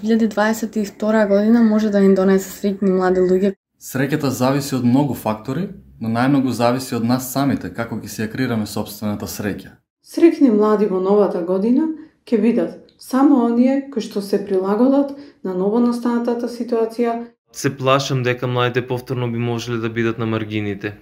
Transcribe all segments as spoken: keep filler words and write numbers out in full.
две илјади дваесет и втора година може да ни донесе среќни млади луѓе. Среќата зависи од многу фактори, но најмногу зависи од нас самите, како ќе си ја креираме собствената среќа. Среќни млади во новата година ќе бидат само оние кои што се прилагодат на новонастанатата ситуација. Се плашам дека младите повторно би можеле да бидат на маргините.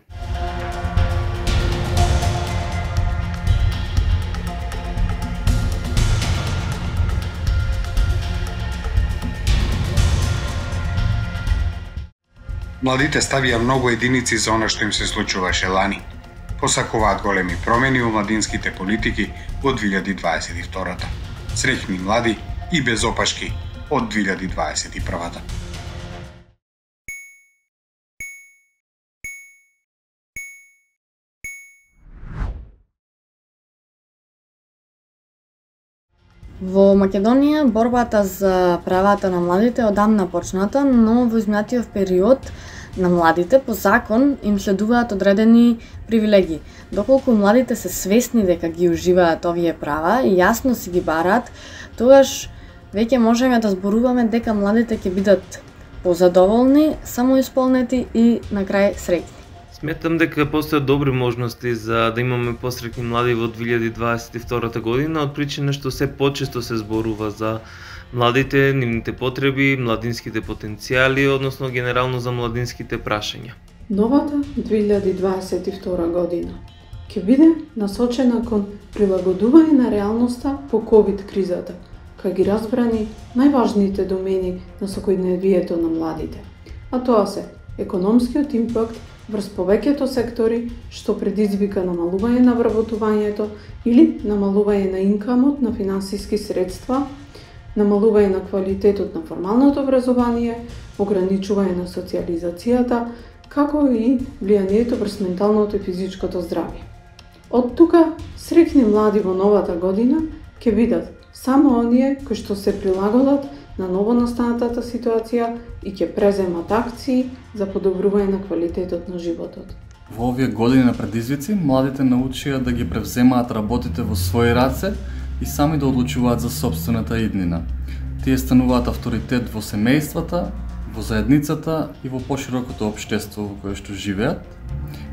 Младите ставија многу единици за она што им се случуваше лани. Посакуваат големи промени во младинските политики во две илјади дваесет и втората. Среќни млади и без опашки од две илјади дваесет и првата. Во Македонија борбата за правата на младите одамна почната, но во изминатиот период на младите по закон им следуваат одредени привилегии. Доколку младите се свесни дека ги уживаат овие права и јасно си ги бараат, тогаш веќе можеме да зборуваме дека младите ќе бидат позадоволни, самоисполнети и на крај среќни. Сметам дека постојат добри можности за да имаме посреќни млади во две илјади дваесет и втората година, од причина што се почесто се зборува за младите, нивните потреби, младинските потенцијали, односно генерално за младинските прашања. Новата две илјади дваесет и втора година ќе биде насочена кон прилагодување на реалноста по ковид кризата, кај ги разбрани најважните домени на секојдневието на младите, а тоа се економскиот импакт врз повеќето сектори што предизвика намалување на вработувањето или намалување на инкамот на финансиски средства, намалување на квалитетот на формалното образование, ограничување на социјализацијата, како и влијанието врз менталното и физичкото здравје. Од тука, среќни млади во новата година ќе бидат само оние кои што се прилагодат на новонастанатата ситуација и ќе преземат акции за подобрување на квалитетот на животот. Во овие години на предизвици, младите научија да ги превземаат работите во своји раце и сами да одлучуваат за собствената иднина. Тие стануваат авторитет во семејствата, во заедницата и во поширокото општество во кое што живеат.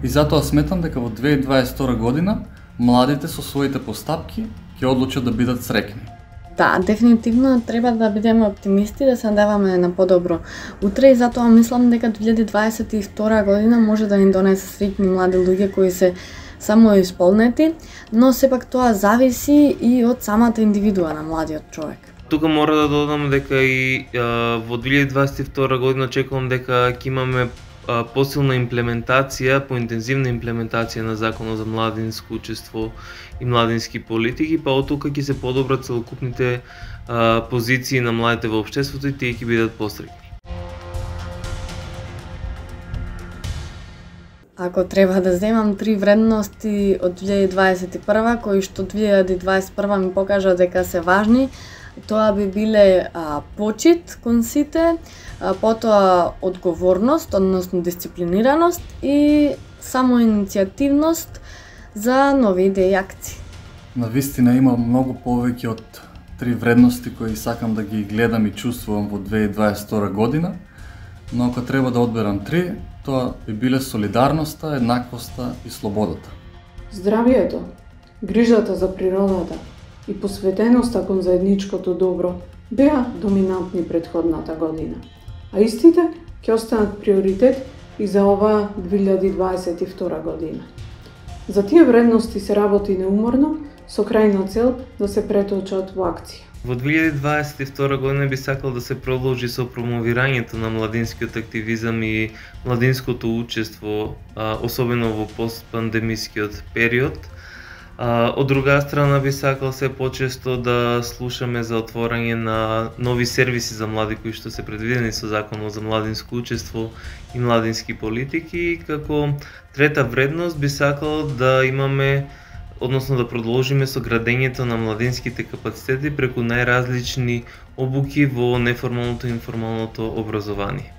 И затоа сметам дека во две илјади дваесет и втора година младите со своите постапки ќе одлучат да бидат среќни. Да, дефинитивно треба да бидеме оптимисти, да се надеваме на подобро утре и затоа мислам дека две илјади дваесет и втора година може да ни донесе среќни млади луѓе кои се самоисполнети, но сепак тоа зависи и од самата индивидуа на младиот човек. Тука мора да додам дека и а, во две илјади дваесет и втора година очекувам дека ќе имаме а, посилна имплементација, поинтензивна имплементација на Законот за младинско учество и младински политики, па од тука ќе се подобрат целокупните а, позиции на младите во општеството и тие ќе бидат посреќни. Ако треба да земам три вредности од две илјади дваесет и прва, кои што две илјади дваесет и прва ми покажа дека се важни, тоа би биле а, почит кон сите, а, потоа одговорност, односно дисциплинираност и самоиницијативност за нови идеи и акции. Навистина има многу повеќе од три вредности кои сакам да ги гледам и чувствувам во две илјади дваесет и втора година, но ако треба да одберам три, тоа би биле солидарноста, еднаквоста и слободата. Здравието, грижата за природата и посветеноста кон заедничкото добро беа доминантни претходната година, а истите ќе останат приоритет и за оваа две илјади дваесет и втора година. За тие вредности се работи неуморно, со крајна цел да се преточат во акција. Во две илјади дваесет и втора година би сакал да се продолжи со промовирањето на младинскиот активизам и младинското учество, особено во постпандемискиот период. Од друга страна би сакал се почесто да слушаме за отворање на нови сервиси за млади кои што се предвидени со Законот за младинско учество и младински политики. Како трета вредност би сакал да имаме, односно да продолжиме со градењето на младинските капацитети преку најразлични обуки во неформалното и информалното образование.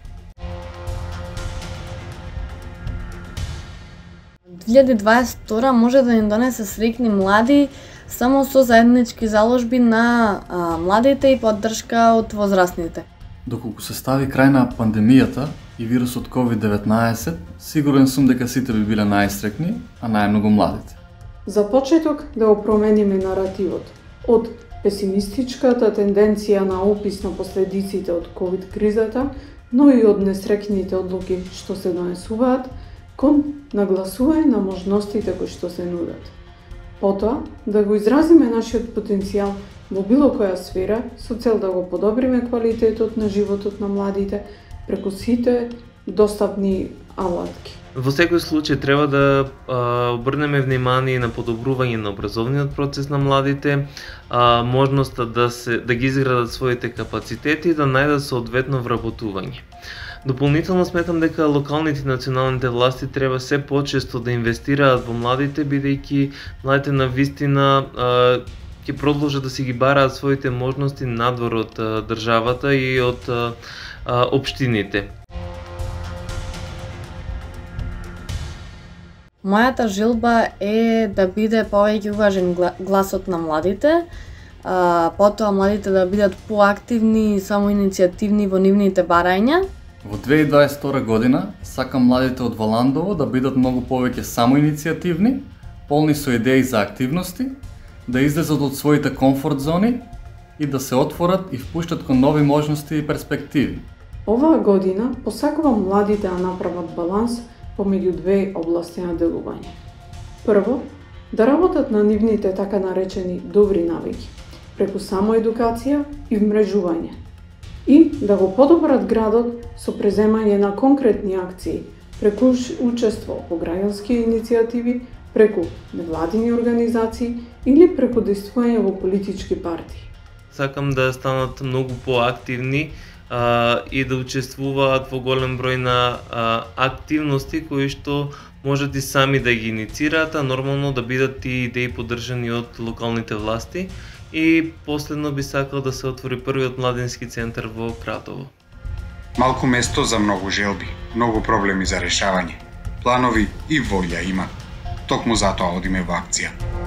две илјади дваесет и втора може да ни донесе среќни млади само со заеднички заложби на а, младите и поддршка од возрастните. Доколку се стави крај на пандемијата и вирусот ковид деветнаесет, сигурен сум дека сите би биле најстрекни, а најмногу младите. За почеток да го промениме наративот од песимистичката тенденција на опис на последиците од ковид кризата, но и од несрекните одлуки што се донесуваат, кон нагласување на можностите кои што се нудат. Потоа, да го изразиме нашиот потенцијал во било која сфера со цел да го подобриме квалитетот на животот на младите преку сите достапни алатки. Во секој случај треба да а, обрнеме внимание на подобрување на образовниот процес на младите, а, можноста да се да ги изградат своите капацитети и да најдат соодветно вработување. Дополнително сметам дека локалните и националните власти треба се почесто да инвестираат во младите, бидејќи младите навистина ќе продолжат да си ги бараат своите можности надвор од а, државата и од а, а, општините. Мојата желба е да биде повеќе уважен гласот на младите, а, потоа младите да бидат поактивни и самоиницијативни во нивните барања. Во две илјади дваесет и втора година сакам младите од Валандово да бидат многу повеќе самоиницијативни, полни со идеи за активности, да излезат од своите комфорт зони и да се отворат и впуштат кон нови можности и перспективи. Оваа година посакувам младите да направат баланс помеѓу две области на делување. Прво, да работат на нивните така наречени добри навики, преку самоедукација и вмрежување. И да го подобрат градот со преземање на конкретни акции, преку учество во граѓански иницијативи, преку невладини организации или преку действување во политички партии. Сакам да станат многу поактивни а, и да учествуваат во голем број на а, активности кои што можат и сами да ги инициираат, а нормално да бидат и идеи поддржани од локалните власти. И последно би сакал да се отвори првиот младински центар во Кратово. Малку место за многу желби, многу проблеми за решавање. Планови и волја има. Токму затоа одиме во акција.